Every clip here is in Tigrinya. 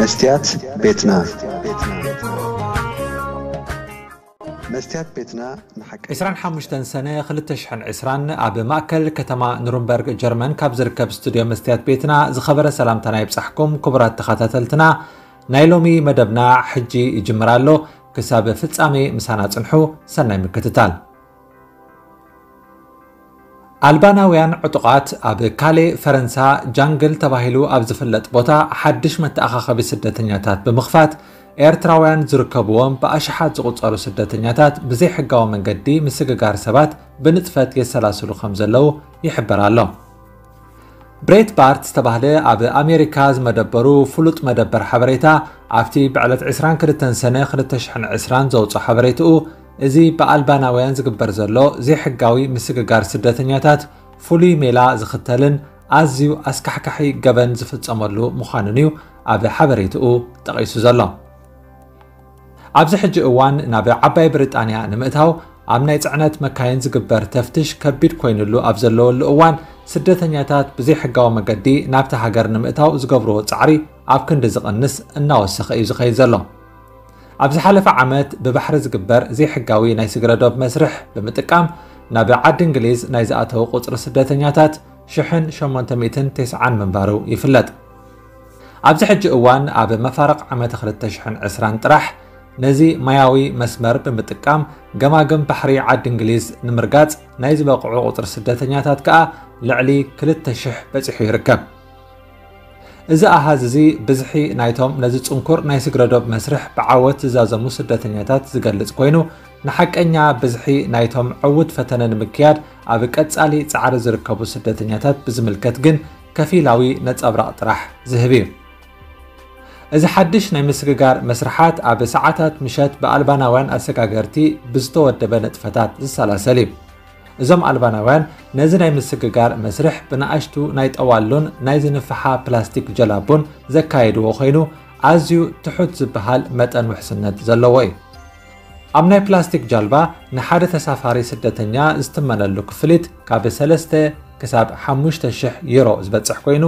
መስትያት ቤትና። መስትያት ቤትና ንሓቂ ዕስራን ሓሙሽተን ሰነ ክልተ ሽሕን ዕስራን ኣብ ማእከል ከተማ ኑርንበርግ ጀርመን ካብ ዝርከብ ስቱድዮ መስትያት ቤትና ዝኸበረ ሰላምታና ይብጻሕኩም። ክቡራት ተኸታተልትና፣ ናይ ሎሚ መደብና ሕጂ ይጅምር ኣሎ። ክሳብ ፍጻሜ ምሳና ጽንሑ። ሰናይ ምክትታል። ኣልባናውያን ዕጡቓት ኣብ ካሌ ፈረንሳ ጃንግል ተባሂሉ ኣብ ዝፍለጥ ቦታ ሓድሽ መተኣኻኸቢ ስደተኛታት ብምኽፋት፣ ኤርትራውያን ዝርከብዎም ብኣሽሓት ዝቑጸሩ ስደተኛታት ብዘይሕጋዊ መንገዲ ምስግጋር ሰባት ብንጥፈት የሰላስሉ ከም ዘለዉ ይሕበር ኣሎ። ብሬት ባርት ዝተባህለ ኣብ ኣሜሪካ ዝመደበሩ ፍሉጥ መደበር ሓበሬታ፣ ኣብቲ ብዕለት ዕስራን ክልተን ሰነ ክልተ ሽሕን ዕስራን ዘውፅኦ ሓበሬትኡ፣ እዚ ብኣልባናውያን ዝግበር ዘሎ ዘይሕጋዊ ምስግጋር ስደተኛታት ፍሉይ ሜላ ዝኽተልን ኣዝዩ ኣስካሕካሒ ገበን ዝፍጸመሉ ምዃኑን እዩ ኣብ ሓበሬትኡ ጠቒሱ ዘሎ። ኣብዚ ሕጂ እዋን ናብ ዓባይ ብሪጣንያ ንምእታው ኣብ ናይ ጽዕነት መካይን ዝግበር ተፍትሽ ከቢድ ኮይኑሉ ኣብ ዘለወሉ እዋን፣ ስደተኛታት ብዘይሕጋዊ መገዲ ናብቲ ሃገር ንምእታው ዝገብርዎ ጻዕሪ ኣብ ክንዲ ዝቕንስ እናወሰኸ እዩ ዝኸይድ ዘሎ። ኣብ ዝሓለፈ ዓመት ብባሕሪ ዝግበር ዘይሕጋዊ ናይ ስግረ ዶብ መስርሕ ብምጥቃም ናብ ዓዲ እንግሊዝ ናይ ዝኣተው ቁጽሪ ስደተኛታት ሽሕን ሸሞንተ ሚእትን ተስዓን ምንባሩ ይፍለጥ። ኣብዚ ሕጂ እዋን ኣብ መፋርቕ ዓመተ ክልተ ሽሕን ዕስራን ጥራሕ ነዚ ማያዊ መስመር ብምጥቃም ገማግም ባሕሪ ዓዲ እንግሊዝ ንምርጋጽ ናይ ዝበቕዑ ቁጽሪ ስደተኛታት ከኣ ልዕሊ ክልተ ሽሕ በጺሑ ይርከብ። እዚ ኣሃዝ እዚ ብዝሒ ናይቶም ነዚ ጽንኩር ናይ ስግረ ዶብ መስርሕ ብዓወት ዝዛዘሙ ስደተኛታት ዝገልጽ ኮይኑ፣ ንሓቀኛ ብዝሒ ናይቶም ዕዉት ፈተነ ንምክያድ ኣብ ቀጻሊ ጻዕሪ ዝርከቡ ስደተኛታት ብዝምልከት ግን ከፊላዊ ነጸብራቕ ጥራሕ ዝህብ እዩ። እዚ ሓድሽ ናይ ምስግጋር መስርሓት ኣብ ሰዓታት ምሸት ብኣልባናውያን ኣሰጋገርቲ ብዝተወደበ ንጥፈታት ዝሰላሰል እዩ። እዞም ኣልባናውያን ነዚ ናይ ምስግጋር መስርሕ ብንኣሽቱ ናይ ጠዋሉን ናይ ዝንፍሓ ፕላስቲክ ጀላቡን ዘካየድዎ ኮይኑ፣ ኣዝዩ ትሑት ዝበሃል መጠን ውሕስነት ዘለዎ እዩ። ኣብ ናይ ፕላስቲክ ጃልባ ንሓደ ተሳፋሪ ስደተኛ ዝትመነሉ ክፍሊት ካብ ሰለስተ ክሳብ ሓሙሽተ ሽሕ ዩሮ ዝበጽሕ ኮይኑ፣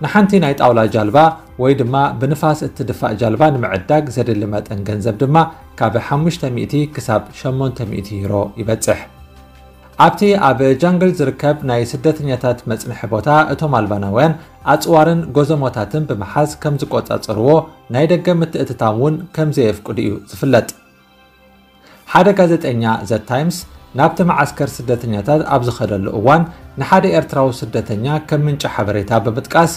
ንሓንቲ ናይ ጣውላ ጃልባ ወይ ድማ ብንፋስ እትድፋእ ጃልባ ንምዕዳግ ዘድሊ መጠን ገንዘብ ድማ ካብ ሓሙሽተ ሚእቲ ክሳብ ሸሞንተ ሚእቲ ዩሮ ይበጽሕ። ኣብቲ ኣብ ጃንግል ዝርከብ ናይ ስደተኛታት መጽንሒ ቦታ፣ እቶም ኣልባናውያን ኣጽዋርን ጎዘሞታትን ብምሓዝ ከም ዝቆጻጸርዎ፣ ናይ ደገ ምትእትታው እውን ከም ዘየፍቅዱ እዩ ዝፍለጥ። ሓደ ጋዜጠኛ ዘ ታይምስ ናብቲ መዓስከር ስደተኛታት ኣብ ዝኸደሉ እዋን፣ ንሓደ ኤርትራዊ ስደተኛ ከም ምንጪ ሓበሬታ ብምጥቃስ፣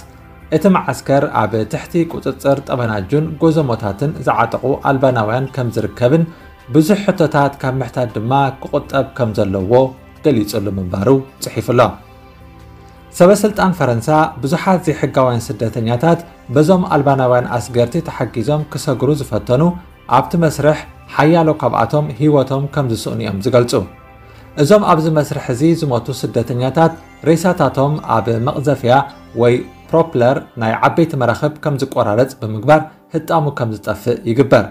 እቲ መዓስከር ኣብ ትሕቲ ቁጽጽር ጠበናጁን ጎዘሞታትን ዝዓጠቑ ኣልባናውያን ከም ዝርከብን ብዙሕ ሕቶታት ካብ ምሕታት ድማ ክቑጠብ ከም ዘለዎ ገሊጹሉ ምንባሩ ጽሒፉ ኣሎ። ሰበ ስልጣን ፈረንሳ ብዙሓት ዘይሕጋውያን ስደተኛታት በዞም ኣልባናውያን ኣስገርቲ ተሓጊዞም ክሰግሩ ዝፈተኑ፣ ኣብቲ መስርሕ ሓያሎ ካብኣቶም ህይወቶም ከም ዝስእኑ እዮም ዝገልጹ። እዞም ኣብዚ መስርሕ እዚ ዝሞቱ ስደተኛታት ሬሳታቶም ኣብ መቕዘፍያ ወይ ፕሮፕለር ናይ ዓበይቲ መራኽብ ከም ዝቆራረጽ ብምግባር ህጣሙ ከም ዝጠፍእ ይግበር።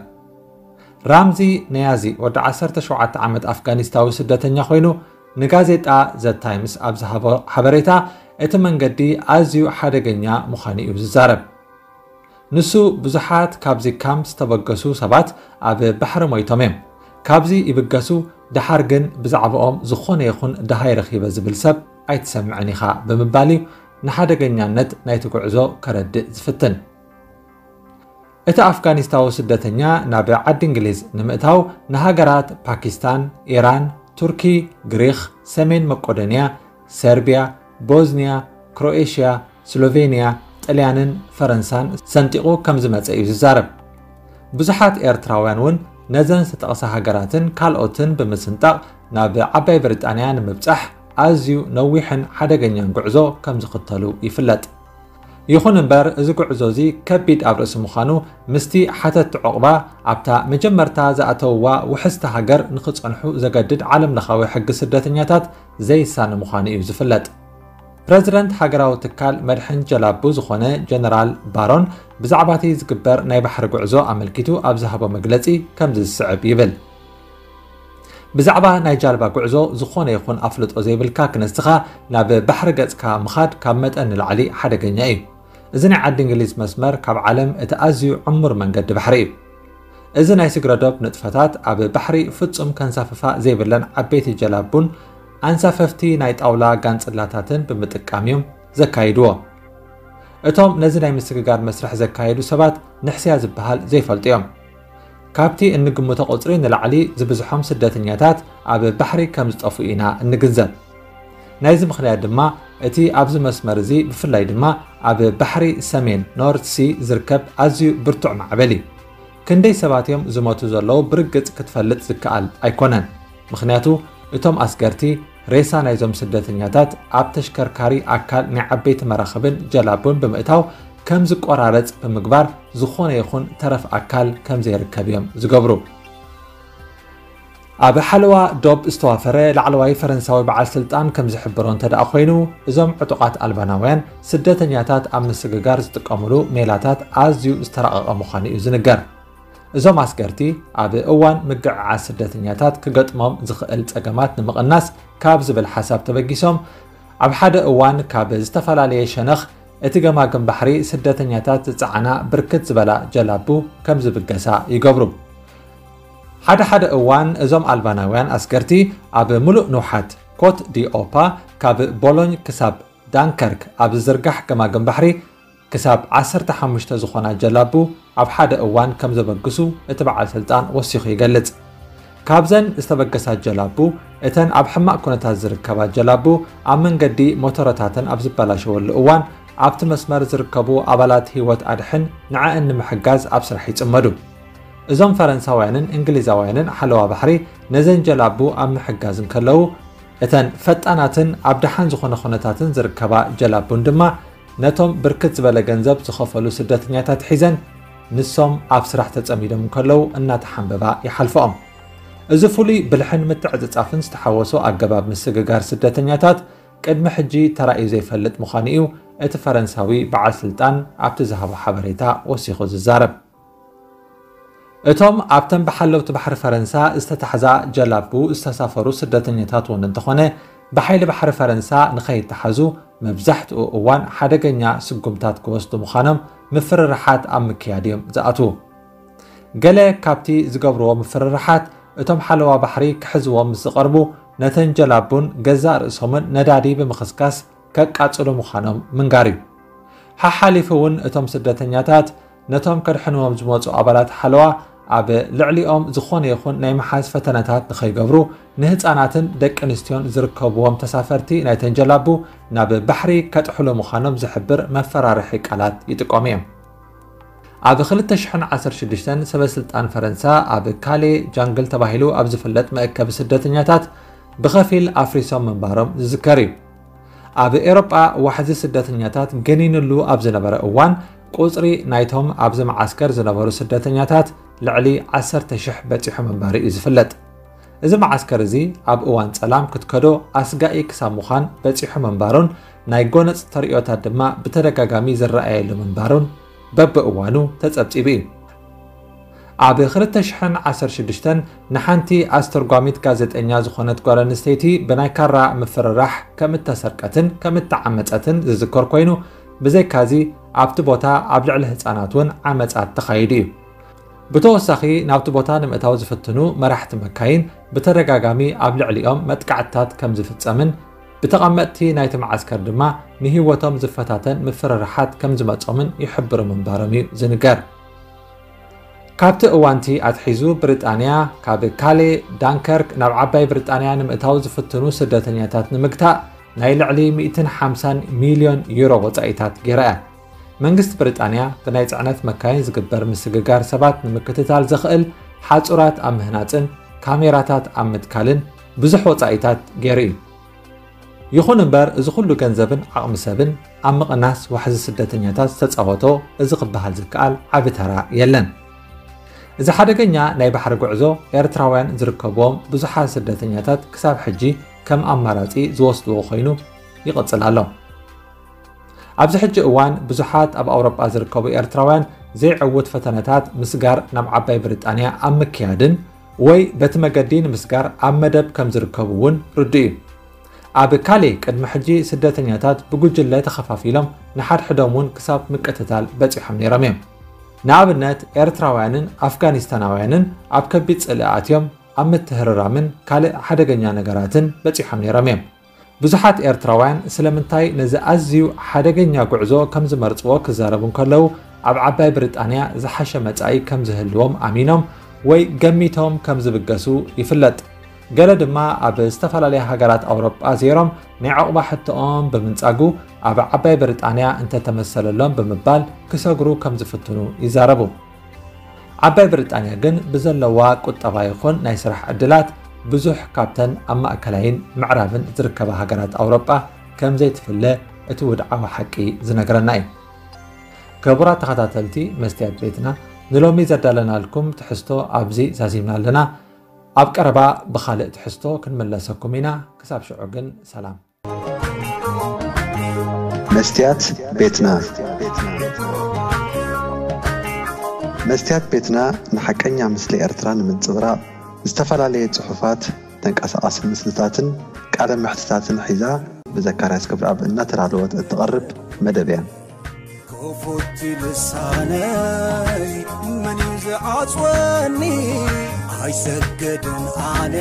ራምዚ ነያዚ ወዲ ዓሰርተ ሸውዓተ ዓመት ኣፍጋኒስታዊ ስደተኛ ኮይኑ፣ ንጋዜጣ ዘ ታይምስ ኣብ ዝሃቦ ሓበሬታ፣ እቲ መንገዲ ኣዝዩ ሓደገኛ ምዃኑ እዩ ዝዛረብ። ንሱ፣ ብዙሓት ካብዚ ካምፕ ዝተበገሱ ሰባት ኣብ ባሕሪ ሞይቶም እዮም። ካብዚ ይብገሱ፣ ደሓር ግን ብዛዕባኦም ዝኾነ ይኹን ደሃይ ረኺበ ዝብል ሰብ ኣይትሰምዕን ኢኻ ብምባል እዩ ንሓደገኛነት ናይቲ ጉዕዞ ከረድእ ዝፍትን። እቲ ኣፍጋኒስታዊ ስደተኛ ናብ ዓዲ እንግሊዝ ንምእታው ንሃገራት ፓኪስታን፣ ኢራን፣ ቱርኪ፣ ግሪኽ፣ ሰሜን መቄዶንያ፣ ሰርቢያ፣ ቦዝንያ፣ ክሮኤሽያ፣ ስሎቬንያ፣ ጥልያንን ፈረንሳን ሰንጢቑ ከም ዝመጸ እዩ ዝዛረብ። ብዙሓት ኤርትራውያን እውን ነዘን ዝተጠቕሳ ሃገራትን ካልኦትን ብምስንጣቕ ናብ ዓባይ ብሪጣንያ ንምብጻሕ ኣዝዩ ነዊሕን ሓደገኛን ጉዕዞ ከም ዝኽተሉ ይፍለጥ። ይኹን እምበር፣ እዚ ጉዕዞ እዚ ከቢድ ኣብ ርእሲ ምዃኑ፣ ምስቲ ሓተቲ ዑቕባ ኣብታ መጀመርታ ዝኣተውዋ ውሕስቲ ሃገር ንኽጸንሑ ዘገድድ ዓለምለኻዊ ሕጊ ስደተኛታት ዘይሳነ ምዃኑ እዩ ዝፍለጥ። ፕረዚደንት ሃገራዊ ትካል መድሕን ጀላቡ ዝኾነ ጀነራል ባሮን፣ ብዛዕባ እቲ ዝግበር ናይ ባሕሪ ጉዕዞ ኣመልኪቱ ኣብ ዝሃቦ መግለጺ ከምዚ ዝስዕብ ይብል። ብዛዕባ ናይ ጃልባ ጉዕዞ ዝኾነ ይኹን ኣፍልጦ ዘይብልካ ክንስኻ ናብ ባሕሪ ገጽካ ምኻድ ካብ መጠን ንላዕሊ ሓደገኛ እዩ። እዚ ናይ ዓዲ እንግሊዝ መስመር ካብ ዓለም እቲ ኣዝዩ ዕሙር መንገዲ ባሕሪ እዩ። እዚ ናይ ስግረዶብ ንጥፈታት ኣብ ባሕሪ ፍጹም ከንሳፍፋ ዘይብለን ዓበይቲ ጀላቡን ኣንሳፈፍቲ ናይ ጣውላ ጋንጽላታትን ብምጥቃም እዮም ዘካይድዎ። እቶም ነዚ ናይ ምስግጋር መስርሕ ዘካየዱ ሰባት ንሕስያ ዝበሃል ዘይፈልጡ እዮም። ካብቲ እንግምቶ ቁጽሪ ንላዕሊ ዝብዝሖም ስደተኛታት ኣብ ባሕሪ ከም ዝጠፍኡ ኢና እንግንዘብ። ናይዚ ምኽንያት ድማ እቲ ኣብዚ መስመር እዚ ብፍላይ ድማ ኣብ ባሕሪ ሰሜን ኖርት ሲ ዝርከብ ኣዝዩ ብርቱዕ ማዕበል እዩ። ክንደይ ሰባት እዮም ዝሞቱ ዘለዉ ብርግጽ ክትፈልጥ ዝከኣል ኣይኮነን። ምኽንያቱ እቶም ኣስገርቲ ሬሳ ናይዞም ስደተኛታት ኣብ ተሽከርካሪ ኣካል ናይ ዓበይቲ መራኽብን ጀላቡን ብምእታው ከም ዝቆራረጽ ብምግባር ዝኾነ ይኹን ተረፍ ኣካል ከም ዘይርከብ እዮም ዝገብሩ። ኣብ ሓለዋ ዶብ ዝተዋፈረ ላዕለዋይ ፈረንሳዊ በዓል ስልጣን ከም ዝሕብሮ እንተ ደኣ ኮይኑ፣ እዞም ዕጡቓት ኣልባናውያን ስደተኛታት ኣብ ምስግጋር ዝጥቀምሉ ሜላታት ኣዝዩ ዝተራቐቐ ምዃኑ እዩ ዝንገር። እዞም ኣስገርቲ ኣብ እዋን ምግዕዓዝ ስደተኛታት ክገጥሞም ዝኽእል ጸገማት ንምቕናስ ካብ ዝብል ሓሳብ ተበጊሶም፣ ኣብ ሓደ እዋን ካብ ዝተፈላለየ ሸነኽ እቲ ገማግም ባሕሪ ስደተኛታት ዝጸዓና ብርክት ዝበላ ጀላቡ ከም ዝብገሳ ይገብሩ። ሓደ ሓደ እዋን እዞም ኣልባናውያን ኣስገርቲ ኣብ ምሉእ ንውሓት ኮት ዲ ኦፓ ካብ ቦሎኝ ክሳብ ዳንከርክ ኣብ ዝዝርጋሕ ገማግም ባሕሪ ክሳብ ዓሰርተ ሓሙሽተ ዝኾና ጀላቡ ኣብ ሓደ እዋን ከም ዘበግሱ እቲ በዓል ስልጣን ወሲኹ ይገልጽ። ካብዘን ዝተበገሳ ጀላቡ እተን ኣብ ሕማቕ ኩነታት ዝርከባ ጀላቡ ኣብ መንገዲ ሞተረታተን ኣብ ዝበላሸወሉ እዋን ኣብቲ መስመር ዝርከቡ ኣባላት ህይወት ኣድሕን ንዐኣን ንምሕጋዝ ኣብ ስራሕ ይጽመዱ። እዞም ፈረንሳውያንን እንግሊዛውያንን ሓለዋ ባሕሪ ነዘን ጀላቡ ኣብ ምሕጋዝ እንከለዉ እተን ፈጣናትን ኣብ ደሓን ዝኾነ ኩነታትን ዝርከባ ጀላቡን ድማ ነቶም ብርክት ዝበለ ገንዘብ ዝኸፈሉ ስደተኛታት ሒዘን ንሶም ኣብ ስራሕ ተጸሚዶም እንከለዉ እናተሓንበባ ይሓልፈኦም። እዚ ፍሉይ ብልሕን ምትዕጽጻፍን ዝተሓወሶ ኣገባብ ምስግጋር ስደተኛታት ቅድሚ ሕጂ ተራእዩ ዘይፈልጥ ምዃኑ እዩ እቲ ፈረንሳዊ በዓል ስልጣን ኣብቲ ዝሃቦ ሓበሬታ ወሲኹ ዝዛረብ። እቶም ኣብተን ብሓለውቲ ባሕሪ ፈረንሳ ዝተታሕዛ ጀላቡ ዝተሳፈሩ ስደተኛታት እውን እንተኾነ ብሓይሊ ባሕሪ ፈረንሳ ንኸይተሓዙ መብዛሕትኡ እዋን ሓደገኛ ስጉምታት ክወስዱ ምዃኖም ምፍርርሓት ኣብ ምክያድ እዮም ዝኣትዉ። ገለ ካብቲ ዝገብርዎ ምፍርርሓት እቶም ሓለዋ ባሕሪ ክሕዝዎም ምስ ዝቐርቡ ነተን ጀላቡን ገዛእ ርእሶምን ነዳዲ ብምኽስካስ ከቃጽሉ ምዃኖም ምንጋር እዩ። ሓሓሊፉ እውን እቶም ስደተኛታት ነቶም ከድሕንዎም ዝመጹ ኣባላት ሓለዋ ኣብ ልዕሊኦም ዝኾነ ይኹን ናይ ምሓዝ ፈተነታት ንኸይገብሩ ንህፃናትን ደቂ ኣንስትዮን ዝርከብዎም ተሳፈርቲ ናይተን ጀላቡ ናብ ባሕሪ ከጥሕሉ ምዃኖም ዝሕብር መፈራርሒ ቃላት ይጥቀሙ እዮም። ኣብ ክልተ ሽሕን ዓሰርተ ሽዱሽተን ሰበ ስልጣን ፈረንሳ ኣብ ካሌ ጃንግል ተባሂሉ ኣብ ዝፍለጥ መእከቢ ስደተኛታት ብኸፊል ኣፍሪሶም ምንባሮም ዝዝከር እዩ። ኣብ ኤውሮጳ ዋሕዚ ስደተኛታት ገኒንሉ ኣብ ዝነበረ እዋን ቁጽሪ ናይቶም ኣብዚ መዓስከር ዝነበሩ ስደተኛታት ልዕሊ ዓሰርተ ሽሕ በጺሑ ምንባሩ እዩ ዝፍለጥ። እዚ መዓስከር እዚ ኣብ እዋን ጸላም ክትከዶ ኣስጋኢ ክሳብ ምዃን በጺሑ ምንባሩን ናይ ጎነጽ ተርእዮታት ድማ ብተደጋጋሚ ዝረኣየሉ ምንባሩን በብእዋኑ ተጸብጺቡ እዩ። ኣብ ክልተ ሽሕን ዓሰርተ ሽዱሽተን ንሓንቲ ኣስተርጓሚት ጋዜጠኛ ዝኾነት ጓል ኣንስተይቲ ብናይ ካራ ምፍርራሕ ከም እተሰርቀትን ከም እተዓመጸትን ዝዝከር ኮይኑ፣ ብዘይካዚ ኣብቲ ቦታ ኣብ ልዕሊ ህጻናት እውን ዓመጻት ተኻይዱ እዩ። ብተወሳኺ ናብቲ ቦታ ንምእታው ዝፍትኑ መራሕቲ መካይን ብተደጋጋሚ ኣብ ልዕሊኦም መጥቃዕትታት ከም ዝፍጸምን ብተቐመጥቲ ናይቲ መዓስከር ድማ ንህይወቶም ዝፈታተን ምፍርርሓት ከም ዝመጾምን ይሕብሩ ምንባሮም እዩ ዝንገር። ካብቲ እዋንቲ ኣትሒዙ ብሪጣንያ ካብ ካሌ ዳንከርክ ናብ ዓባይ ብሪጣንያ ንምእታው ዝፍትኑ ስደተኛታት ንምግታእ ናይ ልዕሊ ሚእትን ሓምሳን ሚልዮን ዩሮ ወጻኢታት ገይራ እያ። መንግስቲ ብሪጣንያ ብናይ ጽዕነት መካይን ዝግበር ምስግጋር ሰባት ንምክትታል ዘኽእል ሓጹራት ኣብ ምህናጽን ካሜራታት ኣብ ምትካልን ብዙሕ ወጻኢታት ገይሩ እዩ። ይኹን እምበር እዚ ኩሉ ገንዘብን ዓቕሚ ሰብን ኣብ ምቕናስ ዋሕዚ ስደተኛታት ዝተጻወቶ እዚ ክበሃል ዝከኣል ዓቢ ተራ የለን። እዚ ሓደገኛ ናይ ባሕሪ ጉዕዞ ኤርትራውያን ዝርከብዎም ብዙሓት ስደተኛታት ክሳብ ሕጂ ከም ኣማራጺ ዝወስድዎ ኮይኑ ይቕጽል ኣሎ። ኣብዚ ሕጂ እዋን ብዙሓት ኣብ ኣውሮጳ ዝርከቡ ኤርትራውያን ዘይዕውት ፈተነታት ምስጋር ናብ ዓባይ ብሪጣንያ ኣብ ምክያድን ወይ በቲ መገዲ ንምስጋር ኣብ መደብ ከም ዝርከቡ እውን ርዱእ እዩ። ኣብ ካሌ ቅድሚ ሕጂ ስደተኛታት ብጉጅለ ተኸፋፊሎም ንሓድሕዶም እውን ክሳብ ምቅትታል በጺሖም ነይሮም እዮም። ንኣብነት ኤርትራውያንን ኣፍጋኒስታናውያንን ኣብ ከቢድ ጽልኢ ኣትዮም ኣብ ምትህርራምን ካልእ ሓደገኛ ነገራትን በጺሖም ነይሮም እዮም። ብዙሓት ኤርትራውያን ስለምንታይ ነዚ ኣዝዩ ሓደገኛ ጉዕዞ ከም ዝመርጽዎ ክዛረቡ እንከለዉ፣ ኣብ ዓባይ ብሪጣንያ ዝሓሸ መጻኢ ከም ዝህልዎም ኣሚኖም ወይ ገሚቶም ከም ዝብገሱ ይፍለጥ። ገለ ድማ ኣብ ዝተፈላለያ ሃገራት ኣውሮጳ ዜሮም ናይ ዕቑባ ሕቶኦም ብምንጻጉ ኣብ ዓባይ ብሪጣንያ እንተተመሰለሎም ብምባል ክሰግሩ ከም ዝፍትኑ ይዛረቡ። ዓባይ ብሪጣንያ ግን ብዘለዋ ቁጠባ ይኹን ናይ ስራሕ ዕድላት ብዙሕ ካብተን ኣብ ማእከላይን ምዕራብን ዝርከባ ሃገራት ኣውሮጳ ከም ዘይትፍለ እቲ ውድዓዊ ሓቂ ዝነግረና እዩ። ክቡራት ተኸታተልቲ መስትያት ቤትና፣ ንሎሚ ዘዳለናልኩም ትሕዝቶ ኣብዚ ዛዚምና ኣለና። ኣብ ቀረባ ብኻልእ ትሕዝቶ ክንምለሰኩም ኢና። ክሳብ ሽዑ ግን ሰላም። መስትያት ቤትና። መስትያት ቤትና ንሓቀኛ ምስሊ ኤርትራ ንምንጽብራቕ ዝተፈላለየ ጽሑፋት፣ ተንቀሳቓሲ ምስልታትን ቃለ መሕትታትን ሒዛ ብዘካርያስ ክብረኣብ እናተዳለወት እትቐርብ መደብ እያ። ክፉት ልሳነይ መን እዩ ዝዓጽወኒ? ኣይሰገድን ኣነ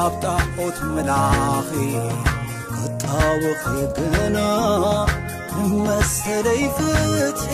ኣብ ጣዖት ምላኺ ክጣወኺ ግና መሰለይ ፍትሒ